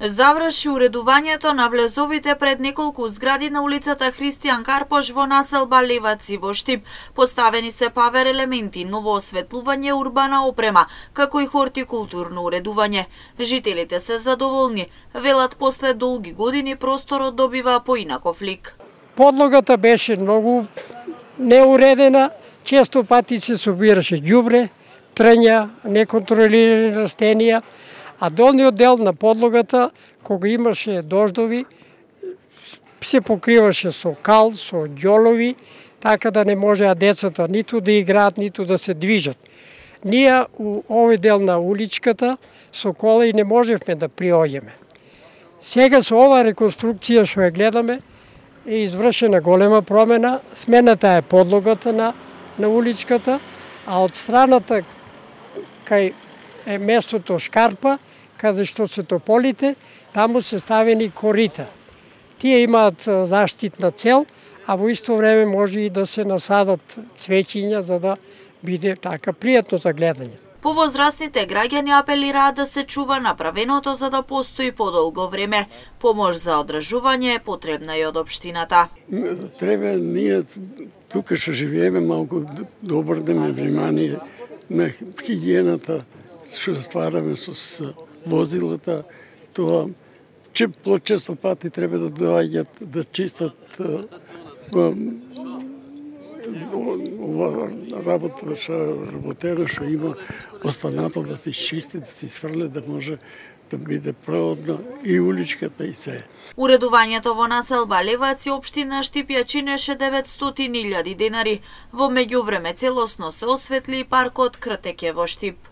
Заврши уредувањето на влезовите пред неколку згради на улицата Христијан Карпош во населба Леваци во Штип. Поставени се павер елементи, ново осветлување, урбана опрема, како и хортикултурно уредување. Жителите се задоволни, велат после долги години просторот добива поинаков лик. Подлогата беше многу неуредена, често пати се собираше ѓубре, трња, неконтролирани растенија, а долниот дел на подлогата, кога имаше дождови, се покриваше со кал, со ѓолови, така да не можеа децата ниту да играат, ниту да се движат. Ние у овој дел на уличката со кола и не можевме да приоѓеме. Сега со ова реконструкција што ја гледаме, е извршена голема промена, смената е подлогата на уличката, а од страната кај е местото Шкарпа, каде што се тополите, таму се ставени корита. Тие имаат заштитна цел, а во исто време може и да се насадат цвеќиња за да биде така пријатно за гледање. Повозрастните граѓани апелираат да се чува направеното за да постои подолго време. Помош за одржување е потребна и од општината. Треба ние тука што живееме малку да обрнеме внимание на хигиената што ствараме со возилата, тоа почесто пати треба да доаѓат да чистат работа што има останато да се изчисти, да се сврле, да може да биде проводна и уличката и се. Уредувањето во населба Леваци општина Штип ја чинеше 900.000 денари. Во меѓувреме целосно се осветли и паркот Кртеќе во Штип.